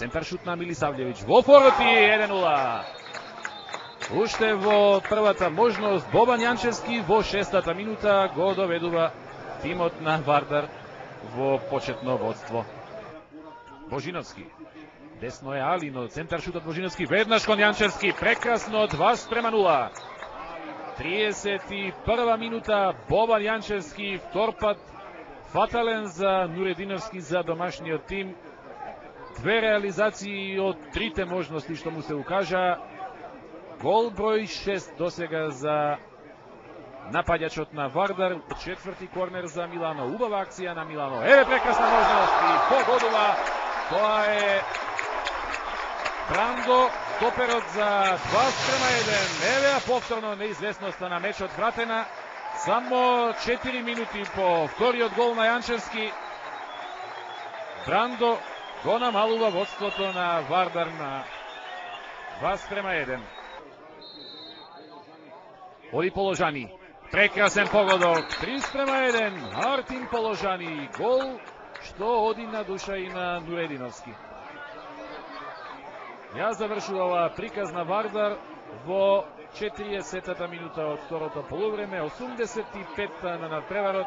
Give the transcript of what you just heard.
Центар шут на Милисавлевиќ во фороти 1-0. Уште во првата можност Бобан Јанчевски во 6-та минута го доведува тимот на Вардар во почетно водство. Божиновски. Десно е Али, но центар шутот Божиновски веднаш кон Јанчевски, прекрасно 2-0. 31 минута, Бобан Јанчевски, втор пат фатален за Нурединовски, за домашниот тим. Две реализации од трите можности што му се укажа. Гол број 6 досега за напаѓачот на Вардар. Четврти корнер за Милано. Убава акција на Милано. Еве прекрасна можност и погодува. Тоа е Брандо, топерот за 2-1. Еве повторно неизвестноста на мечот вратена. Само 4 минути по вториот гол на Јанчевски. Брандо го намалува водството на Вардар на 2-1. Оди Положани. Прекрасен погодок. 3-1. Мартин Положани. Гол што оди на душа и на Нурединовски. Ја завршува приказ на Вардар во 40-та минута од второто полувреме, 85-та на надпреварот.